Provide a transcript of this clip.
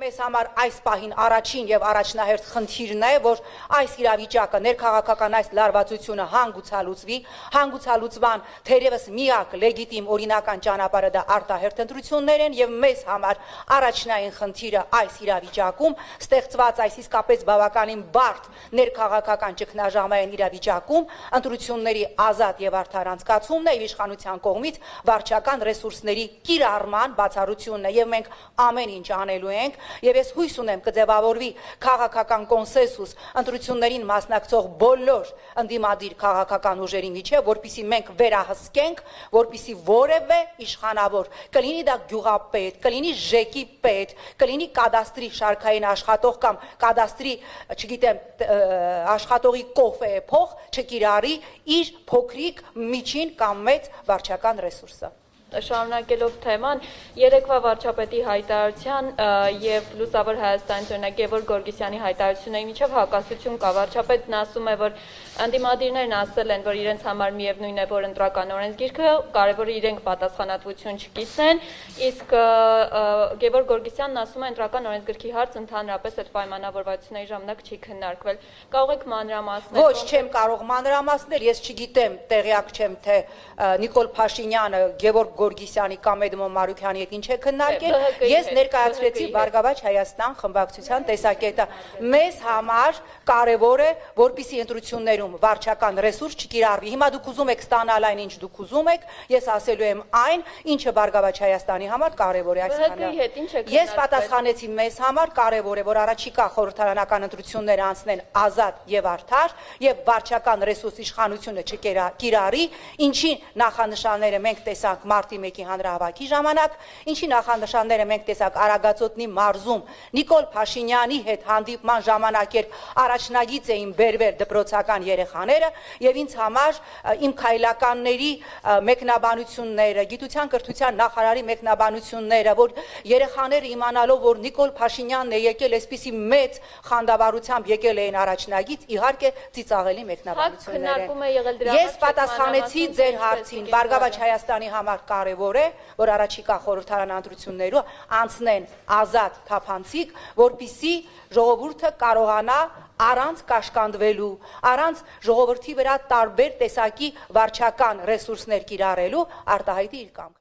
մեզ համար այս պահին առաջին եւ առաջնահերթ խնդիրն է, որ այս իրավիճակը ներքաղաքական այս լարվածությունը հանգուցալուծվի, հանգուցալուծման թերևս միակ լեգիտիմ օրինական ճանապարհը դա արտահերթ ընտրություններ են եւ մեզ համար առաջնային խնդիրը այս իրավիճակում ստեղծված այս իսկապես բավականին բարդ ներքաղաքական ճգնաժամային իրավիճակում ընտրությունների ազատ եւ արդար անցկացումն է եւ իշխանության կողմից վարչական ռեսուրսների կիրառման բացառությունն է եւ մենք ամեն ինչ անելու ենք եւ ես հույս ունեմ կձևավորվի քաղաքական կոնսենսուս ընտրություններին մասնակցող բոլոր ընդդիմադիր քաղաքական ուժերի միջեւ, որպեսզի մենք վերահսկենք, որպեսզի որևէ իշխանավոր, կլինի դա գյուղապետ, կլինի ԺԵԿ-ի պետ, կլինի կադաստրի շարքային աշխատող կամ կադաստրի, չգիտեմ, աշխատողի կոֆե փող չկիրառի իր փոքրիկ, միջին կամ մեծ վարչական ռեսուրսը։ Շարունակելով թեման, երեկվա վարչապետի հայտարարության եւ Լուսավոր Հայաստանից օրինակ Գևորգ Գորգիսյանի հայտարարությունների միջև հակասություն կա։ Վարչապետն ասում է, որ ընդդիմադիրներն ասել են, որ իրենց համար միևնույն է, որ ընտրական օրենսգիրքը կարևորը իրենք պատասխանատվություն չկիսեն, իսկ Գևորգ Գորգիսյանն ասում է, ընտրական օրենսգրքի հարց ընդհանրապես այդ պայմանավորվածությունների ժամանակ չի քննարկվել։ Կարող եք մանրամասնել։ Ոչ, չեմ կարող մանրամասնել, ես չգիտեմ, տեղյակ չեմ, թե Նիկոլ Փաշինյանը Գևորգ Գորգիսյանի կամ Էդմոն Մարուքյանի հետ ինչ է քննարկել, ես ներկայացրեցի Բարգավաճ Հայաստան խմբակցության տեսակետը։ Մեզ համար կարևոր է, որպեսզի ընտրություններում վարչական ռեսուրս չկիրառվի։ Հիմա դուք ուզում եք ստանալ այն, ինչ դուք ուզում եք, ես ասելու եմ այն, ինչը Բարգավաճ Հայաստանի համար կարևոր է այսքանը։ Ես պատասխանեցի մեզ համար կարևոր է, որ առաջիկա խորհրդարանական ընտրությունները անցնեն ազատ եւ արդար եւ վարչական ռեսուրս իշխանությունը չկիրառի, ինչի նախանշանները մենք տեսանք մարտի 1-ի հանրահավաքի ժամանակ, ինչի նախանշանները մենք տեսանք Արագածոտնի մարզում Նիկոլ Փաշինյանի հետ հանդիպման ժամանակ, երբ առաջնագիծ էին բերվել դպրոցական երեխաները եւ ինձ համար իմ քայլականների մեկնաբանությունները, գիտության կրթության նախարարի մեկնաբանությունները, որ երեխաները իմանալով, որ Նիկոլ Փաշինյանն է եկել այսպիսի մեծ խանդավառությամբ եկել էին առաջնագիծ, իհարկե ծիծաղելի մեկնաբանություններ են։ Ես պատասխանեցի ձեր հարցին, Բարգավաճ Հայաստանի համար կարևոր է, որ առաջիկա խորհրդարան ընտրություններում անցնեն ազատ թափանցիկ, որպեսզի ժողովուրդը կարողանա առանց կաշկանդվելու, առանց ժողովրդի վրա տարբեր տեսակի վարչական ռեսուրսներ կիրառելու արտահայտի իր կամքը։